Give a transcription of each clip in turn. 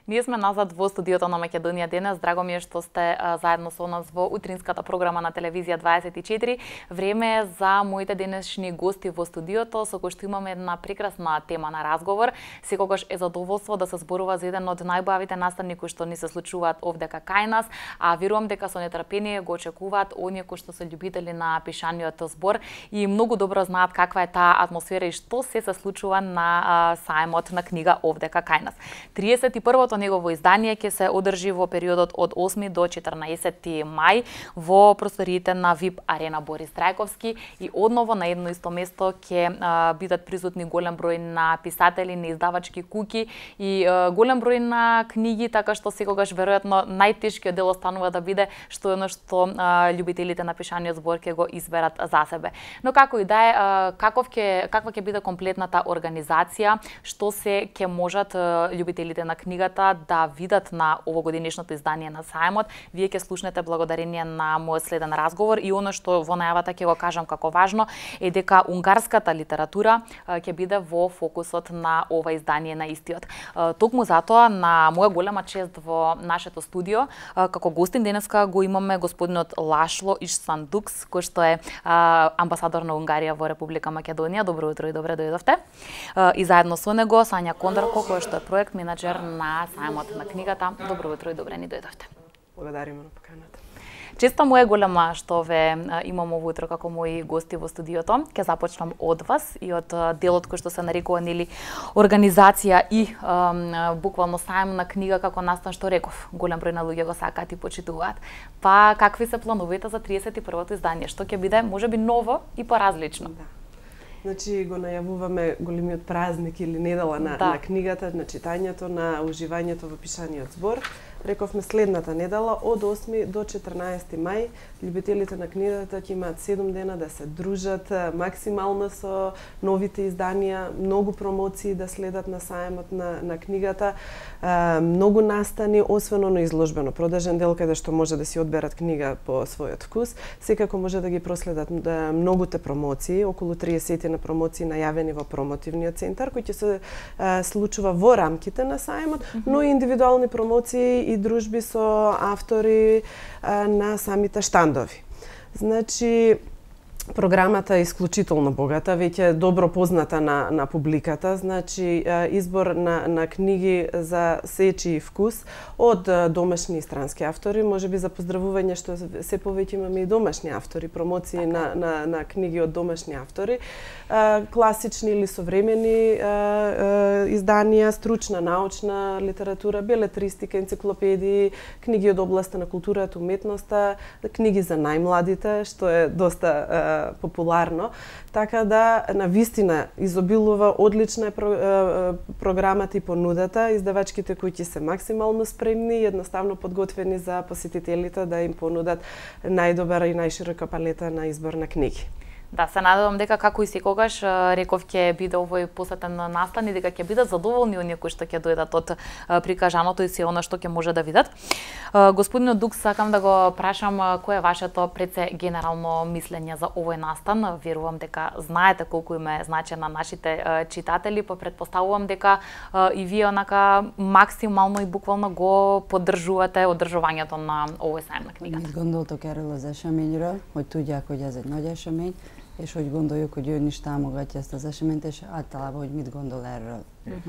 Ние сме назад во студиото на Македонија денес. Драго ми е што сте заедно со нас во утринската програма на телевизија 24. Време е за моите денешни гости во студиото, со кои што имаме една прекрасна тема на разговор. Секогаш е задоволство да се зборува за еден од најбавите настани кои што ни се случуваат овдека кај нас, а верувам дека со нетрпение го очекуваат оние кои што се љубители на пишаниот збор и многу добро знаат каква е таа атмосфера и што се случува на сајмот на книга овдека кај нас. 31-то негово издание ќе се одржи во периодот од 8 до 14 мај во просториите на VIP Арена Борис Трајковски и одново на едно исто место ќе бидат присутни голем број на писатели, на издавачки куќи и голем број на книги, така што секогаш веројатно најтешкиот дел останува да биде што е оно што љубителите на пишаниот збор ќе го изберат за себе. Но како и да е, каква ќе биде комплетната организација, што се ќе можат љубителите на книгата да видат на овогодинешното издание на сајмот, вие ќе слушнете благодарение на мојот следен разговор и оно што во најавата ќе го кажам како важно е дека унгарската литература ќе биде во фокусот на ова издание на истиот. Токму затоа на моја голема чест во нашето студио како гостин денеска го имаме господинот Лашло Ишсандукс, кој што е амбасадор на Унгарија во Република Македонија. Добро утро и добре дојдовте. И заедно со него Сања Кондарко, кој што е проект менаџер на сајмот на книгата. Добро утро и добре ни дојдовте. Благодариме на поканата. Честа му е голема што ве имам ово утро како мои гости во студиото. Ќе започнам од вас и од делот кој што се нарекува нели организација и буквално сајм на книга како настан, што реков. Голем број на луѓе го сакаат и почитуваат. Па какви се плановите за 31-то издание? Што ќе биде можеби ново и поразлично? Да. Значи го најавуваме големиот празник или недела на книгата, на читањето, на уживањето во пишаниот збор. Рековме следната недела од 8 до 14 мај љубителите на книгата ќе имаат 7 дена да се дружат максимално со новите изданија, многу промоции да следат на сајмот на книгата, многу настани, освен оно изложбено продажен дел каде што може да си одберат книга по својот вкус, секако може да ги проследат многуте промоции, околу 30 на промоции најавени во промотивниот центар кој ќе се случува во рамките на сајмот, но и индивидуални промоции и дружби со автори на самите штандови. Значи, програмата е исклучително богата, веќе добро позната на публиката, значи избор на книги за сечи и вкус од домашни и странски автори, можеби за поздравување што се повеќе имаме и домашни автори, промоции на книги од домашни автори, класични или современи изданија, стручна научна литература, белетристика, енциклопедии, книги од областа на културата, уметноста, книги за најмладите, што е доста популарно, така да на вистина изобилува одлична е програмата и понудата, издавачките кои ќе се максимално спремни и едноставно подготвени за посетителите да им понудат најдобра и најширока палета на избор на книги. Да, се надевам дека како и секогаш реков ќе биде овој посетен настан и дека ќе бидат задоволни оние кои што ќе дојдат од прикажаното и се она што ќе може да видат. Господино Дукс, сакам да го прашам кој е вашето предсе генерално мислење за овој настан. Верувам дека знаете колку им е значен на нашите читатели, па претпоставувам дека и вие онака максимално и буквално го поддржувате одржувањето на овој сајм на книгата. Mit gondoltok erről az eseményről, hogy tudják, hogy ez egy nagy esemény, és hogy gondoljuk, hogy ön is támogatja ezt az eseményt, és általában, hogy mit gondol erről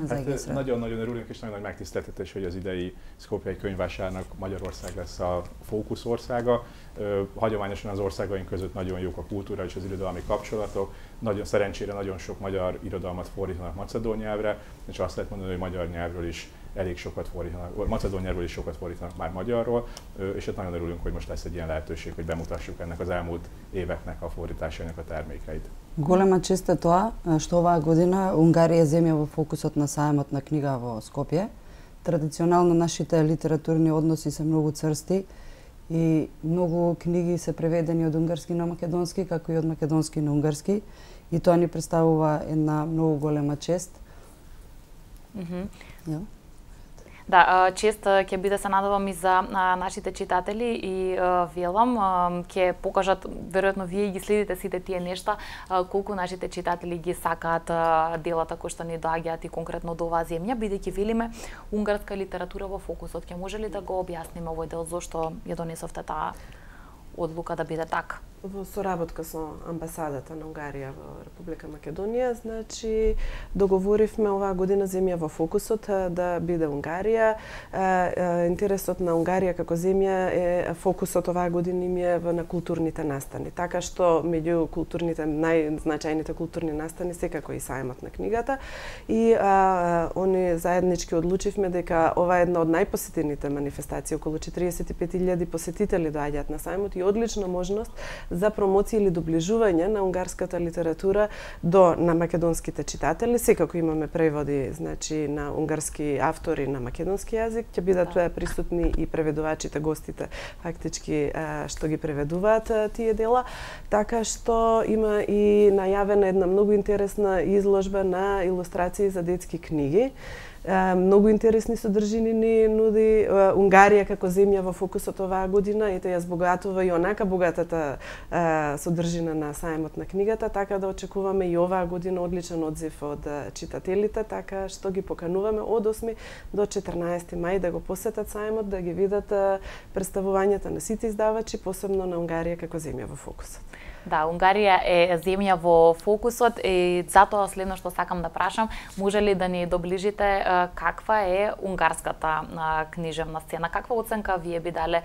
az egészről. Nagyon-nagyon örülünk, és nagyon nagy megtiszteltetés, hogy az idei Skopjei könyvvásárnak Magyarország lesz a fókuszországa. Hagyományosan az országaink között nagyon jók a kultúra és az irodalmi kapcsolatok. Nagyon szerencsére nagyon sok magyar irodalmat fordítanak macedón nyelvre, és azt lehet mondani, hogy magyar nyelvről is elég sokat fordítanak, macedón nyelvről is sokat fordítanak már magyarról, és hát nagyon örülünk, hogy most lesz egy ilyen lehetőség, hogy bemutassuk ennek az elmúlt éveknek a fordításainak a termékeit. Голема чест е тоа што оваа година Унгарија е земја во фокусот на сајмот на книга во Скопје. Традиционално нашите литературни односи се многу црсти и многу книги се преведени од унгарски на македонски, како и од македонски на унгарски, и тоа ни представува една многу голема чест. Да, чест ќе биде, се надевам, и за нашите читатели и велам ќе покажат, веројатно вие ги следите сите тие нешта, колку нашите читатели ги сакаат делата кои што ни доаѓаат и конкретно до оваа земја, бидејќи велиме унгарска литература во фокусот. Ќе може ли да го објасниме овој дел зошто ја донесовте таа одлука да биде така? Во соработка со амбасадата на Унгарија во Република Македонија, значи договоривме оваа година земја во фокусот да биде Унгарија. Интересот на Унгарија како земја е фокусот оваа година им е на културните настани. Така што меѓу културните најзначајните културни настани секако и сајмот на книгата и они заеднички одлучивме дека ова е една од најпосетените манифестации, околу 45.000 посетители доаѓаат на сајмот и одлична можност за промоција или доближување на унгарската литература на македонските читатели. Секако имаме преводи, значи, на унгарски автори на македонски јазик, ќе бидат присутни и преведувачите, гостите, фактички што ги преведуваат тие дела, така што има и најавена една многу интересна изложба на илустрации за детски книги. Многу интересни содржини ни нуди Унгарија како земја во фокусот оваа година, ете ја збогатува и онака богатата содржина на сајмот на книгата, така да очекуваме и оваа година одличен одзив од читателите, така што ги покануваме од 8 до 14 мај да го посетат сајмот, да ги видат представувањата на сите издавачи, посебно на Унгарија како земја во фокусот. Да, Унгарија е земја во фокусот и затоа следно што сакам да прашам, може ли да ни доближите каква е унгарската книжевна сцена? Каква оценка вие би дале,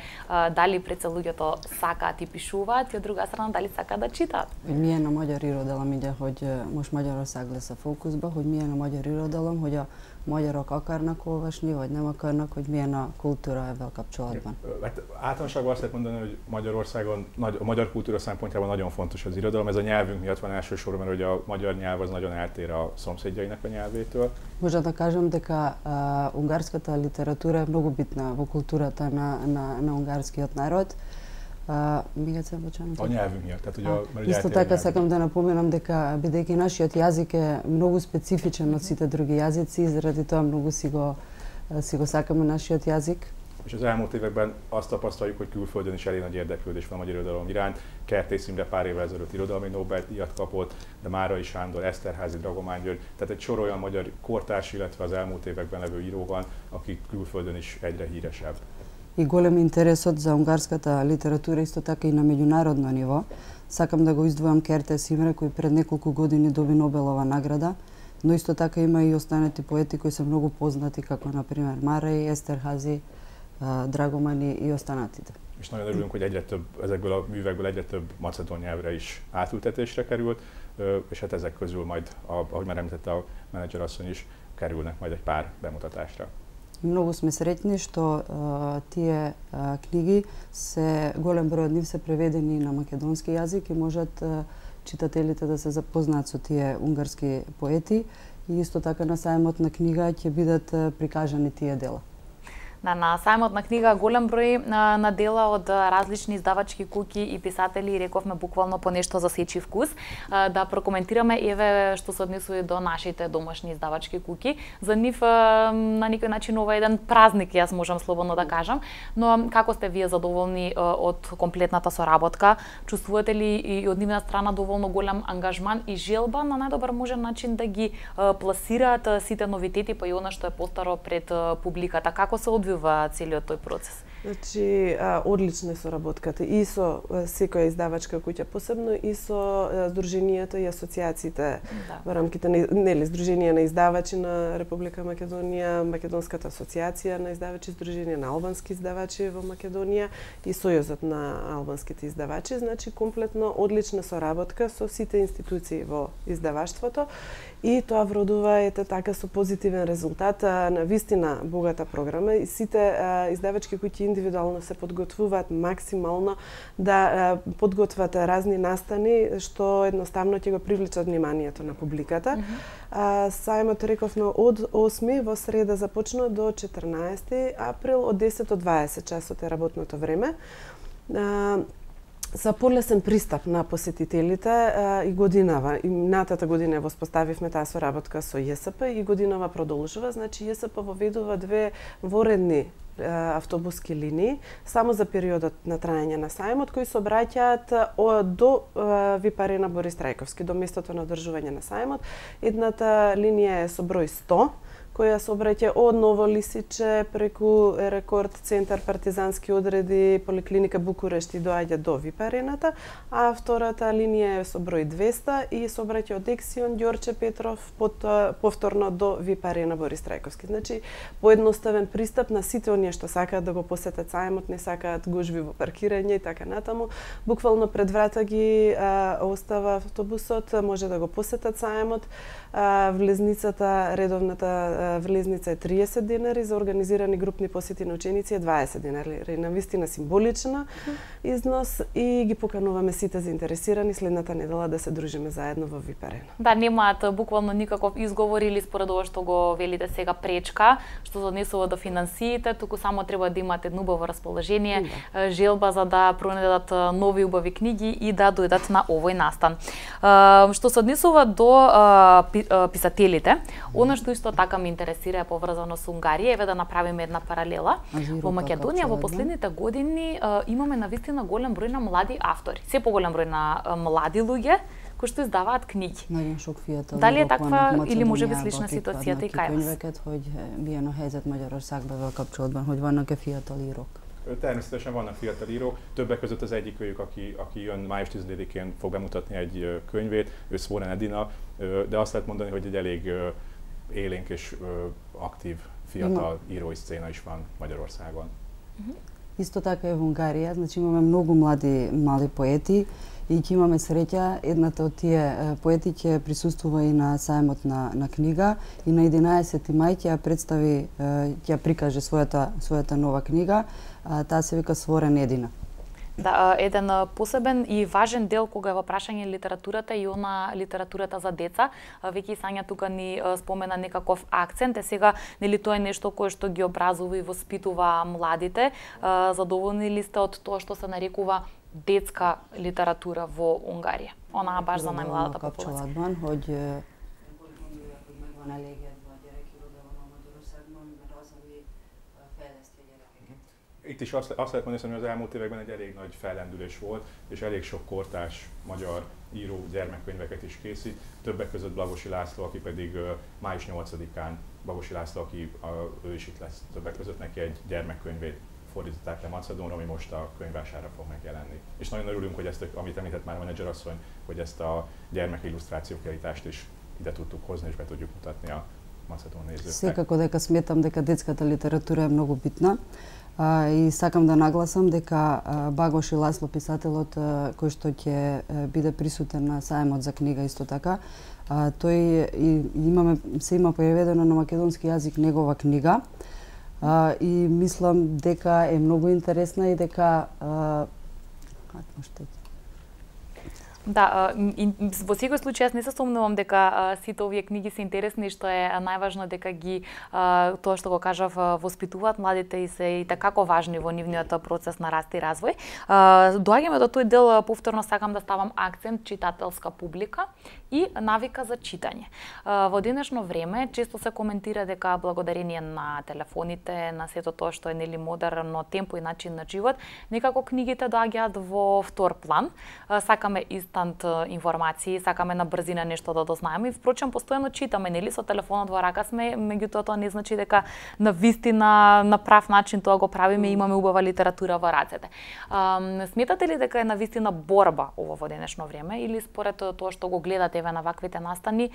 дали пред се луѓето сакаат и пишуваат и од друга страна дали сакаат да читаат? Ние на magyar irodalom ide, hogy most Magyarország lesz a fókuszban, hogy milyen a magyar irodalom, hogy a magyarok akarnak olvasni, vagy nem akarnak, hogy milyen a kultúra ebben kapcsolatban? Hát általánosságban azt lehet mondani, hogy Magyarországon a magyar kultúra szempontjából nagyon fontos az irodalom. Ez a nyelvünk miatt van elsősorban, mert a magyar nyelv az nagyon eltér a szomszédjainak a nyelvétől. Може да кажам дека унгарската литература е многу битна во културата на унгарскиот народ. A nyelvünk miatt. Исто така сакам да напоменам дека бидејќи нашиот јазик е многу специфичен од сите други јазици, заради тоа многу си го сакаме нашиот јазик. És az elmúlt években azt tapasztaljuk, hogy külföldön is elég nagy érdeklődés van a magyar irodalom iránt. Kertész Imre pár évvel ezelőtt irodalmi Nobel-díjat kapott, de Márai Sándor, Eszterházy, Dragomány György, tehát egy sor olyan magyar kortárs, illetve az elmúlt években levő író van, aki külföldön is egyre híresebb. И голем интересот за унгарската литература исто така и на меѓународно ниво. Сакам да го издвојам Кертес Имре, кој пред неколку години доби Нобелова награда, но исто така има и останати поети кои се многу познати, како например Márai, Eszterházy, Dragomani и останатите. És nagyon örülünk, hogy egyre több, ezekből a művekből egyre több macedón nyelvre is átültetésre került, és hát ezek közül majd, ahogy már említette a menedzser asszony is, kerülnek majd egy pár bemutatásra. Многу сме среќни што тие книги голем број од нив се преведени на македонски јазик и можат читателите да се запознаат со тие унгарски поети и исто така на сајмот на книга ќе бидат прикажани тие дела. На сајмот на книга голем број на дела од различни издавачки куќи и писатели, рековме буквално по нешто за сечи вкус. Да прокоментираме еве што се однесува до нашите домашни издавачки куќи. За нив на некој начин ова е еден празник, јас можам слободно да кажам, но како сте вие задоволни од комплетната соработка? Чувствувате ли и од нивна страна доволно голем ангажман и желба на најдобар можен начин да ги пласираат сите новитети, па и она што е постаро пред публиката? Како се одвива целиот тој процес? Значи, одлична е соработката и со секоја издавачка куќа, посебно и со здруженијата и асоциациите во рамките на Здружение на издавачи на Република Македонија, Македонската асоциација на издавачи, Здружение на албански издавачи во Македонија и Сојузот на албанските издавачи. Значи, комплетно одлична соработка со сите институции во издаваштвото и тоа вродува така со позитивен резултат на вистина богата програма и сите издавачки кои индивидуално се подготвуваат максимално да подготват разни настани што едноставно ќе го привлечат вниманието на публиката. Сајмот рековме од 8 во среда започна до 14 април од 10 до 20 часот е работното време. за полесен пристап на посетителите и годинава. И минатата година воспоставивме таа соработка со ЈСП и годинава продолжува. Значи ЈСП воведува 2 воредни автобуски линии само за периодот на траење на сајмот, кои се обраќаат до ВИП арена Борис Трајковски, до местото на одржување на сајмот. Едната линија е со број 100, која се обраќа од Ново Лисиче преку Рекорд центар, партизански одреди, поликлиника Букурешт и доаѓа до ВИП арената, а втората линија е со број 200 и се обраќа од Ексион, Ѓорче Петров, повторно до ВИП арена Борис Трајковски. Значи, поедноставен пристап на сите оние што сакаат да го посетат сајмот, не сакаат гужви во паркирање и така натаму. Буквално пред врата ги остава автобусот, може да го посетат сајмот. Влезницата, редовната влезница е 30 денари, за организирани групни посети на ученици е 20 денари. Навистина символична износ и ги покануваме сите заинтересирани следната недела да се дружиме заедно во ВИП арена. Да, немаат буквално никаков изговор или според ова што го велите сега пречка, што се однесува до финансиите, туку само треба да имате едно убаво расположение, желба за да пронедат нови убави книги и да дојдат на овој настан. Што се однесува до писателите, она што исто така ме интересира е поврзано со Унгарија, еве да направиме една паралела. Во Македонија во последните години имаме навистина голем број на млади автори, се поголем број на млади луѓе кои што издаваат книги. Дали е таква или можеби слична ситуацијата и кај вас? Hogy milyen a helyzet Magyarországban kapcsolatban, hogy vannak-e fiatal írók? Természetesen vannak fiatal írók, többek között az egyik őjük, aki jön május 10-én fog bemutatni egy könyvét, ő Svoren Edina, de azt lehet mondani, hogy egy elég élénk és aktív fiatal írói szcéna is van Magyarországon. Исто така и во Унгарија, значи имаме многу млади поети и ќе имаме среќа едната од тие поети ќе присуствува и на сајмот на книга и на 11 мај ќе представи, ќе прикаже својата нова книга, таа се вика Сворен Едина. Да, еден посебен и важен дел кога е во прашање литературата и она литературата за деца, веќе Сања тука ни спомена некаков акцент, сега нели тоа е нешто кое што ги образува и воспитува младите. Задоволни ли сте од тоа што се нарекува детска литература во Унгарија? Она баш за најмладата популација. Itt is azt lehet mondani, hogy az elmúlt években egy elég nagy fellendülés volt, és elég sok kortárs magyar író gyermekkönyveket is készít. Többek között Blagosi László, aki pedig május 8-án, Blagosi László, aki ő is itt lesz többek között, neki egy gyermekkönyvét fordították le Macedónra, ami most a könyvvásárra fog megjelenni. És nagyon örülünk, hogy ezt, amit említett már a menedzserasszony, hogy ezt a gyermekillusztrációkiállítást is ide tudtuk hozni, és be tudjuk mutatni a macedón nézőknek. Секако дека сметам дека детската литература е многу битна. И сакам да нагласам дека Багош Ласло, писателот кој што ќе биде присутен на сајмот за книга исто така, тој се има преведено на македонски јазик негова книга и мислам дека е многу интересна и дека Да, во секој случај јас не се сомнувам дека сите овие книги се интересни, што е најважно дека ги тоа што го кажав воспитуваат младите и се и такако важни во нивниот процес на раст и развој. Доаѓаме до тој дел, повторно сакам да ставам акцент читателска публика и навика за читање. Во денешно време често се коментира дека благодарение на телефоните, на сето тоа што е нели модерно темпо и начин на живот, некако книгите доаѓаат во втор план. Сакаме информации, сакаме на брзина нешто да дознаеме и впрочем постојано читаме, нели со телефонот во рака сме, меѓутоа тоа не значи дека на вистина на прав начин тоа го правиме и имаме убава литература во рацете. Сметате ли дека е на вистина борба ова во денешно време или според тоа што го гледате еве на ваквите настани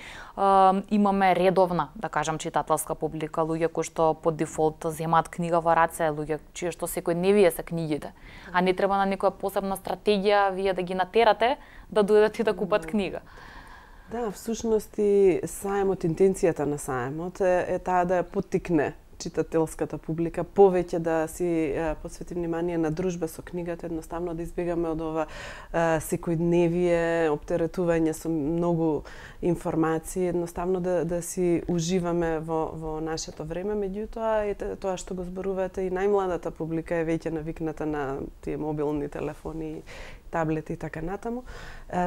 имаме редовна, да кажам, читателска публика, луѓе кои што по дефолт земаат книга во раце, луѓе чие што секојдневие се книгите, а не треба на некоја посебна стратегија вие да ги натерате да дојдат и да купат книга. Да, всушност и сајмот, интенцијата на сајмот е таа да ја поттикне читателската публика повеќе да си посвети внимание на дружба со книгата, едноставно да избегаме од ова секојдневие, оптеретување со многу информации, едноставно да си уживаме во нашето време, меѓутоа тоа што го зборувате и најмладата публика е веќе навикната на тие мобилни телефони таблети и така натаму.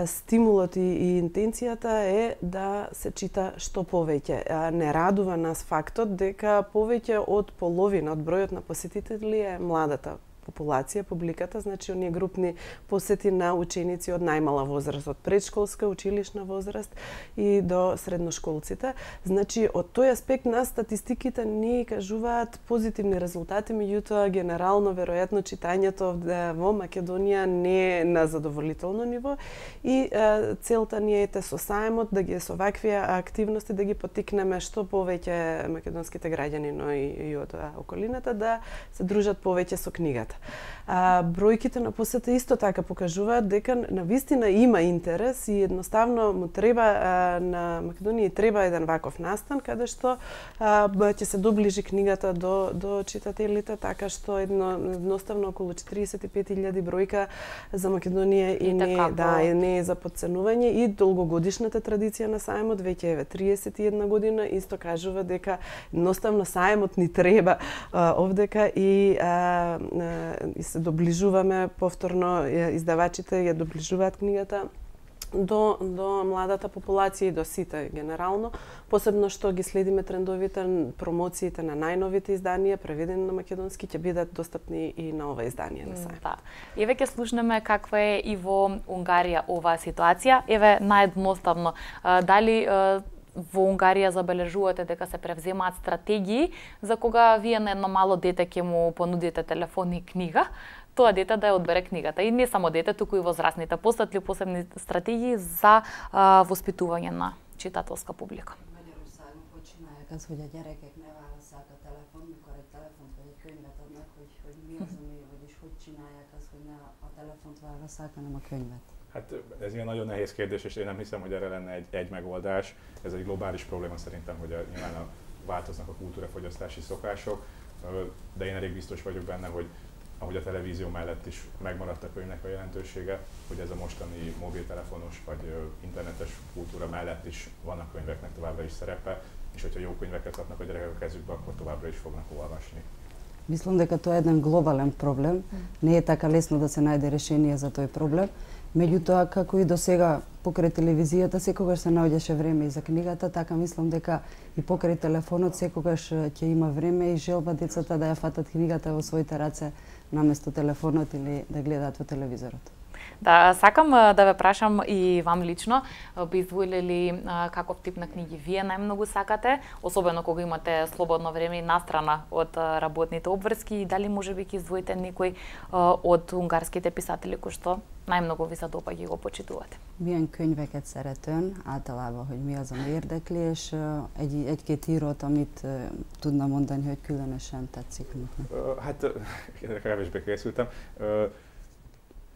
Стимулот и интенцијата е да се чита што повеќе. Не радува нас фактот дека повеќе од половина од бројот на посетители е младата популација, публиката, значи оние групни посети на ученици од најмала возраст, од предшколска, училишна возраст и до средношколците. Значи, од тој аспект на статистиките ни кажуваат позитивни резултати, меѓутоа генерално веројатно читањето во Македонија не е на задоволително ниво и целта ни е со саемот да ги со вакви активности да ги поттикнеме што повеќе македонските граѓани, но и од околината да се дружат повеќе со книгата. Бројките на посета исто така покажуваат дека навистина има интерес и едноставно му треба на Македонија треба еден ваков настан каде што ќе се доближи книгата до читателите, така што едноставно околу 45.000 бројка за Македонија и не е за подценување и долгогодишната традиција на саемот веќе еве 31 година исто кажува дека едноставно саемот ни треба овдека и се доближуваме повторно, издавачите ја доближуваат книгата до младата популација и до сите генерално, посебно што ги следиме трендовите, промоциите на најновите изданија преведени на македонски ќе бидат достапни и на ова издание на сајм. Да. Еве ќе слушнеме каква е и во Унгарија оваа ситуација. Еве наједноставно, дали во Унгарија забележувате дека се превземаат стратегии за кога вие на едно мало дете ќе му понудите телефон и книга, тоа дете да ја одбере книгата. И не само дете, туку и возрастните. Постат ли посебни стратегии за воспитување на читателска публика? Hát ez ilyen nagyon nehéz kérdés, és én nem hiszem, hogy erre lenne egy megoldás. Ez egy globális probléma szerintem, hogy nyilván változnak a kultúrafogyasztási szokások, de én elég biztos vagyok benne, hogy ahogy a televízió mellett is megmaradt a könyvnek a jelentősége, hogy ez a mostani mobiltelefonos vagy internetes kultúra mellett is vannak könyveknek továbbra is szerepe, és hogyha jó könyveket kapnak a gyerekek a kezükbe, akkor továbbra is fognak olvasni. Мислам дека тоа е еден глобален проблем. Не е така лесно да се најде решение за тој проблем. Меѓутоа, како и до сега покрај телевизијата секогаш се наоѓаше време и за книгата, така мислам дека и покрај телефонот секогаш ќе има време и желба децата да ја фатат книгата во своите раце наместо телефонот или да гледаат во телевизорот. Да, сакам да ве прашам и вам лично, би изволели каков тип на книги вие најмногу сакате, особено кога имате слободно време и настрана од работните обврски, и дали можеби ќе издвоите некој од унгарските писатели кои што најмногу ви се допаѓа и го почитувате? Milyen könyveket szeretőn, általában, hogy mi az, ami érdekli, és egy-két írót, amit tudna mondani, hogy különösen tetszik neknek? Hát, kevésbé készültem.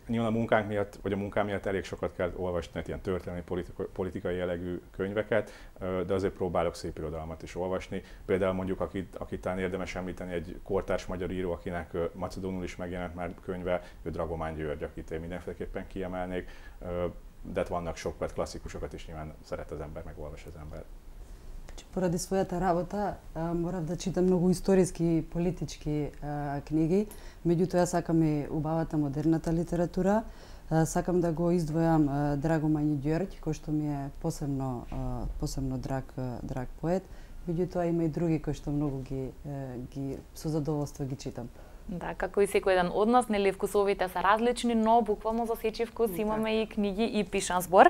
Nyilván a munkánk miatt, vagy a munkám miatt elég sokat kell olvasni ilyen történelmi, politikai jellegű könyveket, de azért próbálok szép irodalmat is olvasni. Például mondjuk, akit talán érdemes említeni, egy kortárs magyar író, akinek macedónul is megjelent már könyve, ő Dragomán György, akit én mindenféleképpen kiemelnék, de vannak sokat klasszikusokat is nyilván szeret az ember, megolvas az ember. Поради својата работа морав да читам многу историски и политички книги, меѓутоа сакам и убавата модерната литература. Сакам да го издвојам Драгоман Ѓорѓ, кој што ми е посебно драг поет, меѓутоа има и други кои што многу ги со задоволство ги читам. Да, како и секој еден од нас, нели вкусовите се различни, но буквално за сечи вкус имаме и книги и пишан збор.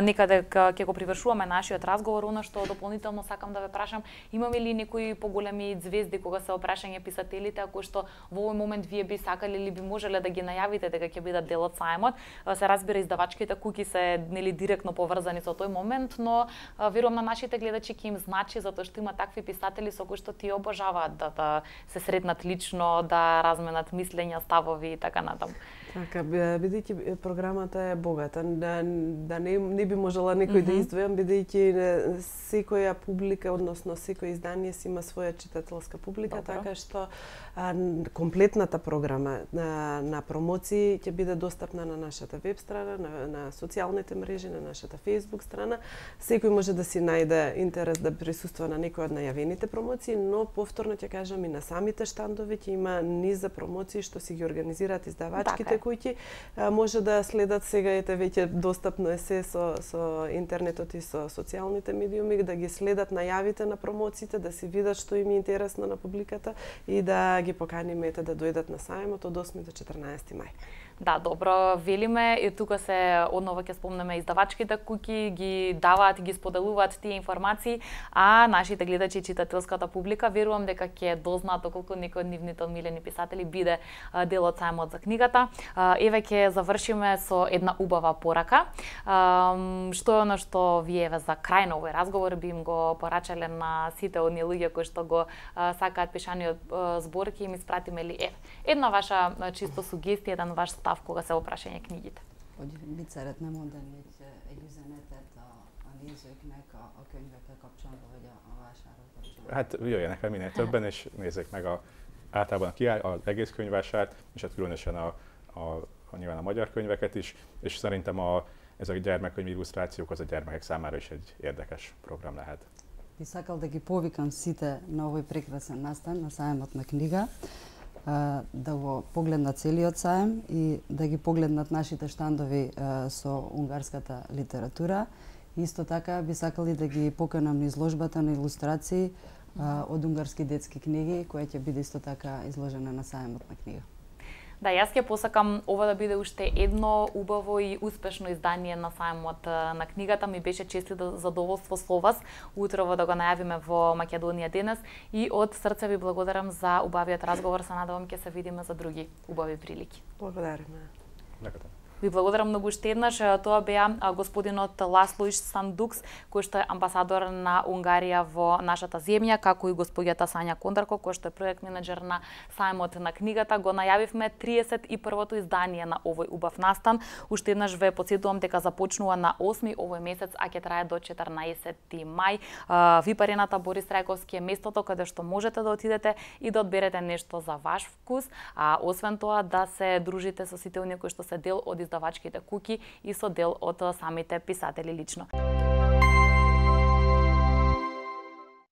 Некаде ќе го привршуваме нашиот разговор, она што дополнително сакам да ве прашам, имаме ли некои поголеми звезди кога се опрашање писателите, кои што во овој момент вие би сакале или би можеле да ги најавите дека ќе бидат дел од саемот? Се разбира, издавачките куки се нели директно поврзани со тој момент, но верувам на нашите гледачи ќе им значи затоа што има такви писатели со кои што ти обожаваат да се сретнат лично, да разменат мислења, ставови и така натаму. Така, бидејќи програмата е богата, да не би можела некој да издвојам, бидејќи секоја публика, односно секој издание си има своја читателска публика, така што комплетната програма на промоции ќе биде достапна на нашата веб страна, на социјалните мрежи, на нашата Facebook страна. Секој може да си најде интерес да присуства на некој од најавените промоции, но повторно ќе кажам и на самите штандови ќе има низ за промоции што си ги организираат издавачките куќи, може да следат сега веќе достапно е се со интернетот и со социјалните медиуми, да ги следат најавите на промоциите, да си видат што им е интересно на публиката и да ги поканиме да дојдат на сајмот од 8 до 14 мај. Да, добро, велиме и тука се однова ќе спомнеме издавачките куќи, ги даваат и ги споделуваат тие информации, а нашите гледачи и читателската публика верувам дека ќе дознаат доколку некој од нивните омилени писатели биде дел од сајмот за книгата. Еве ќе завршиме со една убава порака. Што е она што вие за крај на овој разговор би им го порачале на сите оние луѓе кои што го сакаат пишаниот збор, ќе им испратиме ли една ваша чисто сугестија, еден ваш став кога се опрашање книгите? Vitsäret nem mondani egy üzenetet a nézőknek a könyvekkel kapcsolatban, vagy a vásárral Hát jöjjenek el minél többen, és nézzék meg általában az egész könyvvásárt, és hát különösen nyilván a magyar könyveket is, és szerintem ez a gyermekkönyv illusztrációk az a gyermekek számára is egy érdekes program lehet. Би сакал да ги повикам сите на овој прекрасен настан на сајмот на книга, да го погледнат целиот сајм и да ги погледнат нашите штандови со унгарската литература. Исто така би сакали да ги поканам на изложбата на илустрации од унгарски детски книги, која ќе биде исто така изложена на сајмот на книга. Да, јас ќе посакам ова да биде уште едно убаво и успешно издание на сајмот на книгата. Ми беше чест и задоволство со вас утрово да го најавиме во Македонија денес и од срце ви благодарам за убавиот разговор. Се надевам ќе се видиме за други убави прилики. Благодариме. Ви благодарам многу уште еднаш. Тоа беа господинот Ласло Сандукс, кој што е амбасадор на Унгарија во нашата земја, како и госпоѓата Сања Кондарко, кој што е проект менеджер на сајмот на книгата. Го најавивме 31-то издание на овој убав настан. Уште еднаш ве потсетувам дека започнува на 8 овој месец, а ќе трае до 14 мај. Випарената Борис Трајковски е местото каде што можете да отидете и да одберете нешто за ваш вкус, а освен тоа да се дружите со сите оние кои што се дел од издавачките куќи и со дел од самите писатели лично.